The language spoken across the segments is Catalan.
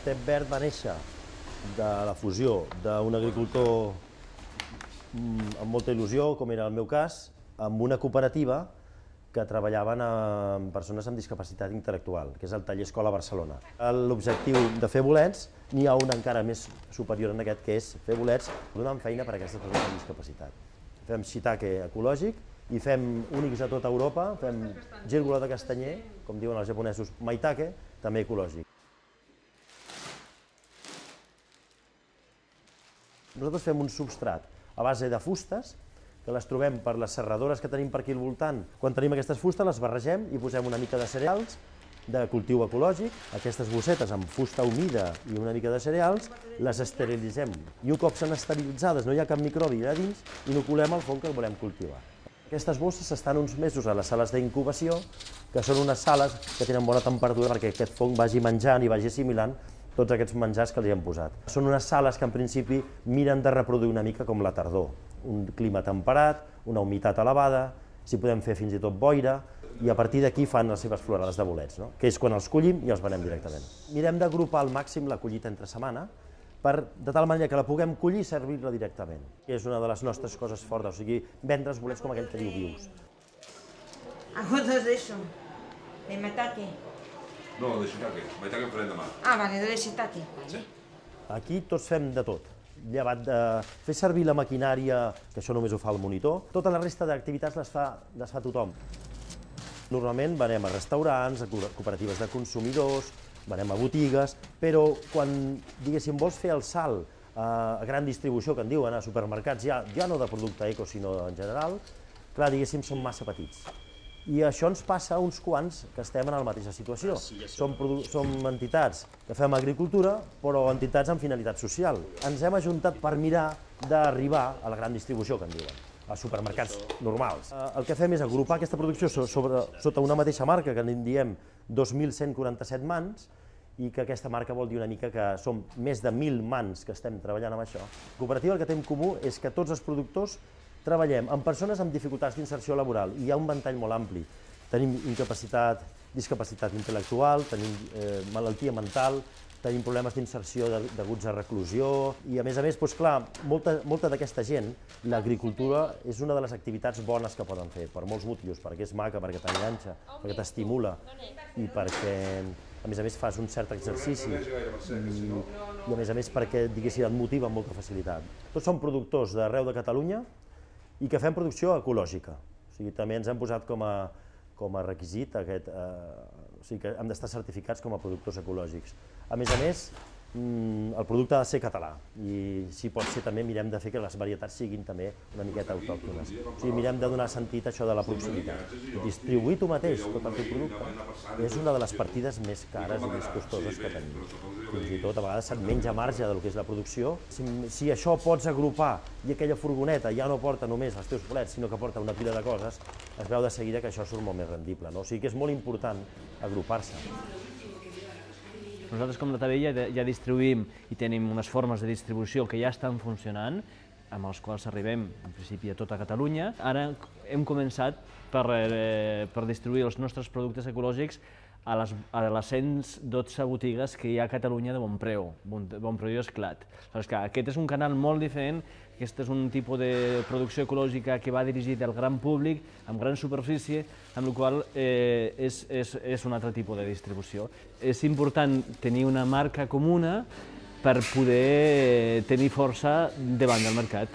Tep Verd va néixer de la fusió d'un agricultor amb molta il·lusió, com era el meu cas, amb una cooperativa que treballaven amb persones amb discapacitat intel·lectual, que és el Taller Escola Barcelona. L'objectiu de fer bolets n'hi ha un encara més superior en aquest, que és fer bolets donant feina per a aquestes persones amb discapacitat. Fem shiitake ecològic i fem únics a tota Europa, fem gírgola de castanyer, com diuen els japonesos, maitake, també ecològic. Nosaltres fem un substrat a base de fustes, que les trobem per les serradores que tenim per aquí al voltant. Quan tenim aquestes fustes les barregem i posem una mica de cereals de cultiu ecològic. Aquestes bossetes amb fusta humida i una mica de cereals les esterilitzem. I un cop són esterilitzades, no hi ha cap microbi allà dins, inoculem el fong que el volem cultivar. Aquestes bosses estan uns mesos a les sales d'incubació, que són unes sales que tenen bona temperatura perquè aquest fong vagi menjant i vagi assimilant tots aquests menjars que li hem posat. Són unes sales que en principi miren de reproduir una mica com la tardor. Un clima temperat, una humitat elevada, si podem fer fins i tot boira, i a partir d'aquí fan les seves florades de bolets, que és quan els collim i els venem directament. Mirem d'agrupar al màxim la collita entre setmana, de tal manera que la puguem collir i servir-la directament, que és una de les nostres coses fortes, o sigui, vendre els bolets com aquell que diu vius. ¿Acuerdas de eso? ¿De maitake? No, de shiitake. Maitake en farem demà. Ah, vale, de shiitake. Sí. Aquí tots fem de tot, llevat de fer servir la maquinària, que això només ho fa el monitor, tota la resta d'activitats les fa tothom. Normalment venem a restaurants, a cooperatives de consumidors, venem a botigues, però quan, diguéssim, vols fer el salt a gran distribució, que en diuen, a supermercats, ja no de producte eco, sinó en general, clar, diguéssim, són massa petits. I això ens passa a uns quants que estem en la mateixa situació. Som entitats que fem agricultura, però entitats amb finalitat social. Ens hem ajuntat per mirar d'arribar a la gran distribució, que en diuen, a supermercats normals. El que fem és agrupar aquesta producció sota una mateixa marca, que en diem 2.147 mans, i que aquesta marca vol dir una mica que som més de 1.000 mans que estem treballant amb això. La cooperativa el que té en comú és que tots els productors treballem amb persones amb dificultats d'inserció laboral i hi ha un ventall molt ampli. Tenim incapacitat, discapacitat intel·lectual, tenim malaltia mental, tenim problemes d'inserció deguts a reclusió i a més, doncs clar, molta d'aquesta gent, l'agricultura és una de les activitats bones que poden fer, per molts motius, perquè és maca, perquè t'enganxa, perquè t'estimula i perquè, a més, fas un cert exercici i a més perquè, diguéssim, et motiva amb molta facilitat. Tots som productors d'arreu de Catalunya i que fem producció ecològica. O sigui, també ens hem posat com a requisit aquest, o sigui que hem d'estar certificats com a productors ecològics. A més, el producte ha de ser català i si pot ser també mirem de fer que les varietats siguin també una miqueta autòctones. O sigui, mirem de donar sentit a això de la proximitat. Distribuir tu mateix tot el teu producte és una de les partides més cares i més costoses que tenim. Fins i tot a vegades se't menja marge del que és la producció. Si això pots agrupar i aquella furgoneta ja no porta només els teus bolets, sinó que porta una pila de coses, es veu de seguida que això surt molt més rendible. O sigui que és molt important agrupar-se. Nosaltres, com la Tabella, ja distribuïm i tenim unes formes de distribució que ja estan funcionant, amb els quals arribem, en principi, a tota Catalunya. Ara hem començat per distribuir els nostres productes ecològics a les 112 botigues que hi ha a Catalunya de bon preu i esclat. Aquest és un canal molt diferent, aquest és un tipus de producció ecològica que va dirigit al gran públic, amb gran superfície, amb la qual és un altre tipus de distribució. És important tenir una marca comuna per poder tenir força davant del mercat.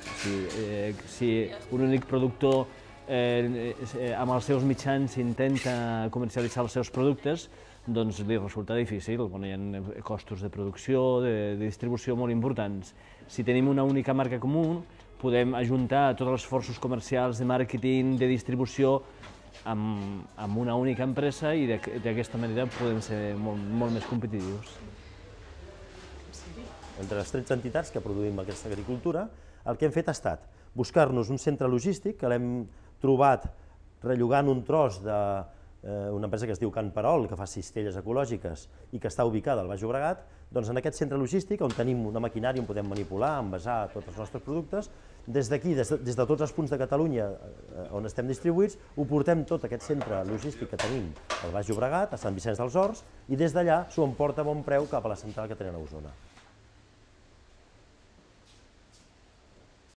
Si un únic productor amb els seus mitjans intenta comercialitzar els seus productes, doncs li resulta difícil, hi ha costos de producció, de distribució molt importants. Si tenim una única marca comú, podem ajuntar tots els esforços comercials, de màrqueting, de distribució, amb una única empresa i d'aquesta manera podem ser molt més competitius. Entre les 13 entitats que produïm aquesta agricultura, el que hem fet ha estat buscar-nos un centre logístic que l'hem trobat rellogant un tros una empresa que es diu Can Perol, que fa cistelles ecològiques i que està ubicada al Baix Llobregat, doncs en aquest centre logístic, on tenim una maquinària on podem manipular, envasar tots els nostres productes, des d'aquí, des de tots els punts de Catalunya on estem distribuïts, ho portem tot aquest centre logístic que tenim al Baix Llobregat, a Sant Vicenç dels Horts, i des d'allà s'ho emporta a bon preu cap a la central que tenen a Osona.